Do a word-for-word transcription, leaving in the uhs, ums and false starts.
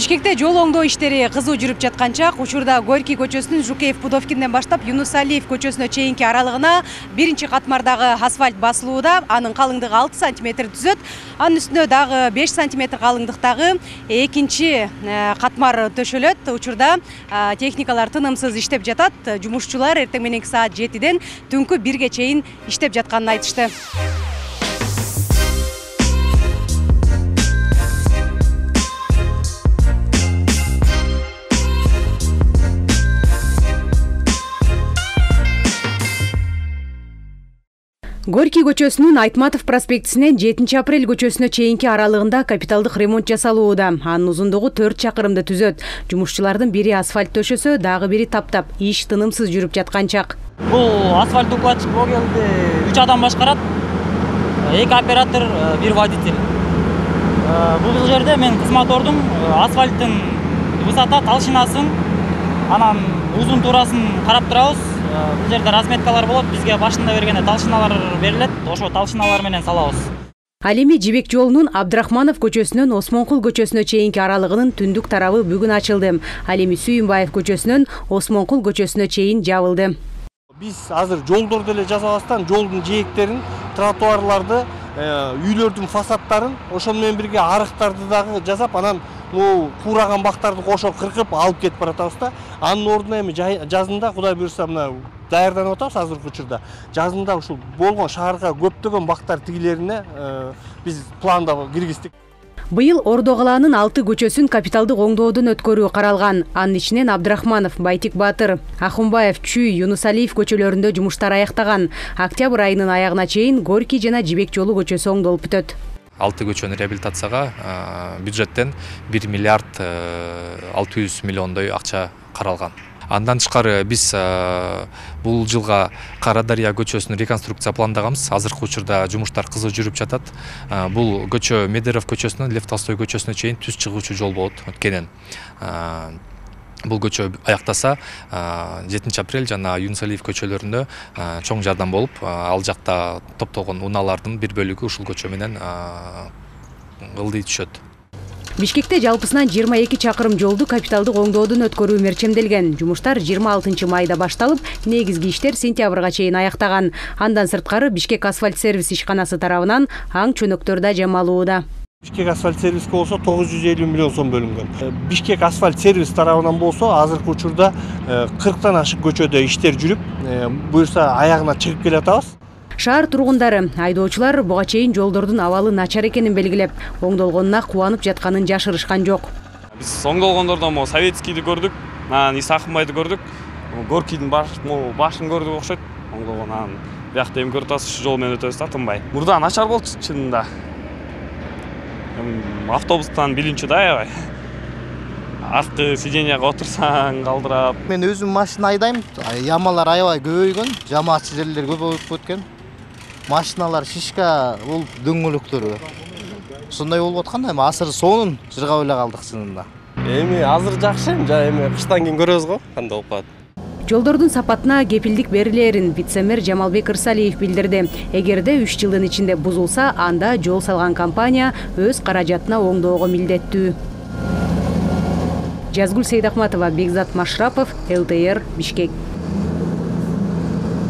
Бишкекте жол оңдоо иштери кызуу жүрүп жатканча учурда Горький көчөсүнүн Жукеев Пудовкинден баштап Юнусалиев көчөсүнө чейинки аралыгына биринчи катмардагы асфальт басылууда. Анын калыңдыгы алты сантиметр түзөт. Анын үстүнө дагы беш сантиметр калыңдыктагы экинчи катмар төшөлөт. Учурда техникалар тынымсыз иштеп жатат. Жумушчулар эртең мененки саат жетиден түнкү бирге чейин иштеп жатканын айтышты. Горький көчөсүнүн Айтматов проспектисинен жетинчи апрель көчөсүнө чейинки аралыгында капиталдык ремонт жасалууда. Анын узундугу төрт чакырымды түзөт. Жумушчулардын бири асфальт төшөсө, дагы бири таптап, иш тынымсыз жүрүп жаткан чак. Бул асфальт укладчик богелди үч адам башкарат. эки оператор, бир водитель. Бул жерде мен кызмат ордум. Асфальттын высота толщинасын, анан узун туурасын карап турабыз. Бул жерде разметкалар болот. Бизге башында бергенде толщиналар берилет. Ошо толщиналар менен салабыз. Ал эми Жибек жолунун Абдрахманов көчөсүнөн Осмонкул көчөсүнө чейинки аралыгынын түндүк тарабы бүгүн ачылды. Ал эми Сүйүнбаев көчөсүнөн Осмонкул көчөсүнө чейин жабылды. Биз азыр жолдорду эле жасабастан жолдун жээктерин, тротуарларды, үйлөрдүн фасадтарын, ошону менен бирге арыктарды дагы жасап, анан бул куураган бактарды кошо кыркып алып кетип баратабыз да. Анын ордуна эми жазында Кудай буйрса мына даярданып атабыз азыркы учурда. Жазында ушул болгон шаарга көптөгөн бактар тигилерине биз планда киргиздик. Быйыл Ордо калаанын алты көчөсүн капиталдык оңдоодон өткөрүү каралган. Анын ичинен Абдрахманов, Байтик Батыр, Ахунбаев, Чүй, Юнусалиев көчөлөрүндө жумуштар аяктаган. Октябрь айынын аягына чейин Горький жана Жибек жолу көчөсү оңдолуп бүтөт. алты көчөнүн реабилитацияга бюджеттен бир миллиард алты жүз миллиондой акча каралган. Андан тышкары биз бул жылга Кара Дарыя көчөсүн реконструкция пландаганбыз. Азыркы учурда жумуштар кызуу жүрүп жатат. Бул көчө Медеров көчөсүнөн Лев Толстой көчөсүнө чейин түз чыгуучу жол болот өткенен. Бул көчө аяктаса жетинчи апрель жана Юнусалиев көчөлөрүндө чоң жардам болуп, ал жакта топтогон унаалардын бир бөлүгү ушул көчө менен ылдый түшөт. Бишкекте жалпысынан жыйырма эки чакырым жолду капиталдык оңдоодон өткөрүү мерчемделген. Жумуштар жыйырма алтынчы майда башталып, негизги иштер сентябрга чейин аяктаган. Андан сырткары Бишкек асфальт сервис ишканасы тарабынан аң чөнөктөр да жамалууда. Бишкек асфальт сервиске болсо тогуз жүз элүү миллион сом бөлүнгөн. Бишкек асфальт сервис тарабынан болсо азыркы учурда кырктан ашык көчөдө иштер жүрүп, буюрса аягына чыгып келатабыз. Шаар тургундары, айдоочулар буга чейин жолдордун абалы начар экенин белгилеп, оңдолгонуна кубанып жатканын жашырышкан жок. Биз оңдолгондордон мо Советскийди көрдүк, анан Исахунбайды көрдүк, Горькийдин башын көрдүк окшойт. Оңдолгон анан биякта эми көрүп атасыз, жол менен өтөбүз да тынбай. Мурда начар болчу чынында. Автобустан билинчү да аябай. Арткы сиденияга отурсаң калдырап. Мен өзүм машина айдайм. Ямалар аябай көбөйгөн, жамаатчы жерлер көбөйүп кеткен. Машиналар шишка болуп дөңгөлөктөрү. Сондай болуп аткан да, эми асыр сонун жыргап эле калдык чынында. Эми азыр жакшы, эми кыштан кийин көрөбүз го, кандай болуп калат. Жолдордун сапатына кепилдик берилерин вице-мэр Жамалбек Ырсалиев билдирди. Эгерде үч жылдын ичинде бузулса, анда жол салган компания өз каражатына оңдоого милдеттүү. Жазгүл Сейдахматова, Бекзат Машрапов, эл тэ эр, Бишкек.